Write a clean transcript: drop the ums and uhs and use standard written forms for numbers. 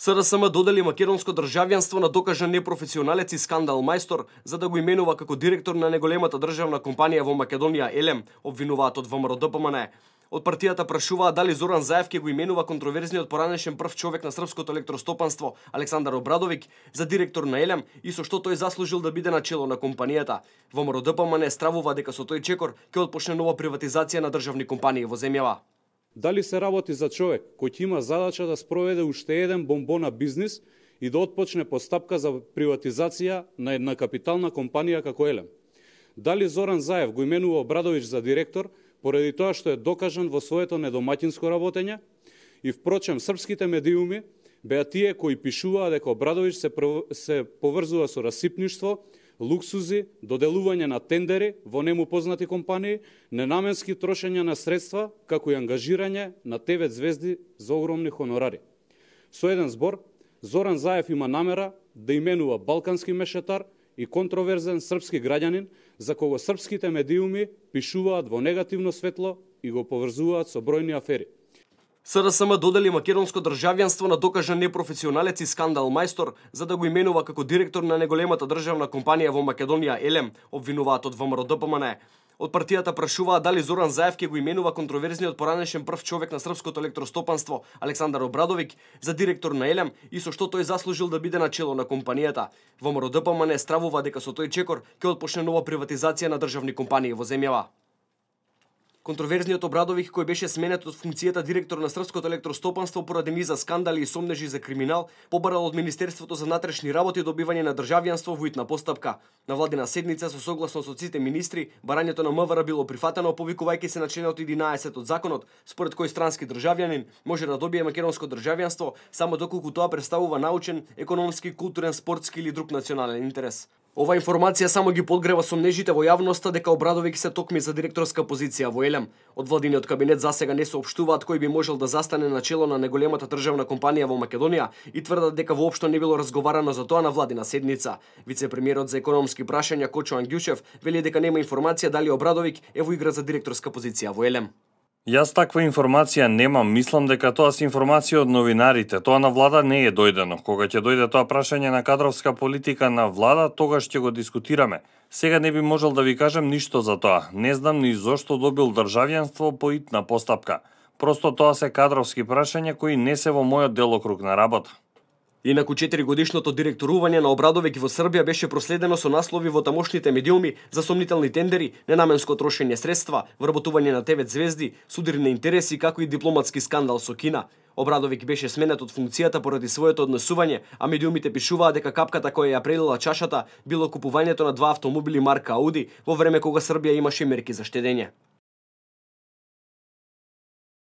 СРСМ додели македонско државјанство на докажан непрофесионалец и скандал мајстор за да го именува како директор на неголемата државна компанија во Македонија Елем, обвинуваат од ВМРО-ДПМН. Од партијата прашуваат дали Зоран Заев ќе го именува контроверзниот поранешен прв човек на српското електростопанство Александар Обрадовиќ за директор на Елем и со што тој заслужил да биде на чело на компанијата. ВМРО-ДПМН стравува дека со тој чекор ќе отпочне нова приватизација на државни компании во земјава. Дали се работи за човек кој ќе има задача да спроведе уште еден бомбона бизнис и да отпочне постапка за приватизација на една капитална компанија како Елем? Дали Зоран Заев го именува Обрадовиќ за директор поради тоа што е докажан во своето недомаќинско работење? И впрочем, српските медиуми беа тие кои пишуваа дека Обрадовиќ се поврзува со расипништво, луксузи, доделување на тендери во нему познати компании, ненаменски трошење на средства, како и ангажирање на ТВ звезди за огромни хонорари. Со еден збор, Зоран Заев има намера да именува балкански мешетар и контроверзен српски граѓанин, за кого српските медиуми пишуваат во негативно светло и го поврзуваат со бројни афери. СРСМ додели македонско државјанство на докажан непрофесионалец и скандал мајстор за да го именува како директор на неголемата државна компанија во Македонија Елем, обвинуваат од ВМРО-ДПМН. Од партијата прашуваат дали Зоран Заев ќе го именува контроверзниот поранешен прв човек на српското електростопанство Александар Обрадовиќ за директор на Елем и со што тој заслужил да биде на чело на компанијата. ВМРО-ДПМН стравува дека со тој чекор ќе отпочне нова приватизација на државни компании во земјава. Контроверзниот Обрадовиќ, кој беше сменет од функцијата директор на српското електростопанство поради низа скандали и сомнежи за криминал, побарал од Министерството за внатрешни работи добивање на државјанство во итна постапка. На владина седница со согласно со сите министри, барањето на МВР било прифатено повикувајќи се на членот 11 од законот, според кој странски државјанин може да добие македонско државјанство само доколку тоа представува научен, економски, културен, спортски или друг национален интерес. Ова информација само ги подгрева сомнежите во јавноста дека Обрадовиќ се токми за директорска позиција во Елем. Од владиниот кабинет засега не соопштуваат кој би можел да застане на чело на неголемата државна компанија во Македонија и тврдат дека воопшто не било разговарано за тоа на владина седница. Вице-премиерот за економски прашања Кочо Ангјушев вели дека нема информација дали Обрадовиќ е во игра за директорска позиција во Елем. Јас таква информација немам, мислам дека тоа се информација од новинарите. Тоа на влада не е дојдено. Кога ќе дојде тоа прашање на кадровска политика на влада, тогаш ќе го дискутираме. Сега не би можел да ви кажам ништо за тоа. Не знам ни зошто добил државјанство по итна постапка. Просто тоа се кадровски прашања кои не се во мојот делокруг на работа. Инаку 4-годишното директорување на Обрадовиќ во Србија беше проследено со наслови во тамошните медиуми за сомнителни тендери, ненаменско трошење средства, вработување на ТВ звезди, судирни интереси, како и дипломатски скандал со Кина. Обрадовиќ беше сменет од функцијата поради своето однесување, а медиумите пишуваат дека капката која ја прелила чашата било купувањето на 2 автомобили марка Ауди во време кога Србија имаше мерки за штедење.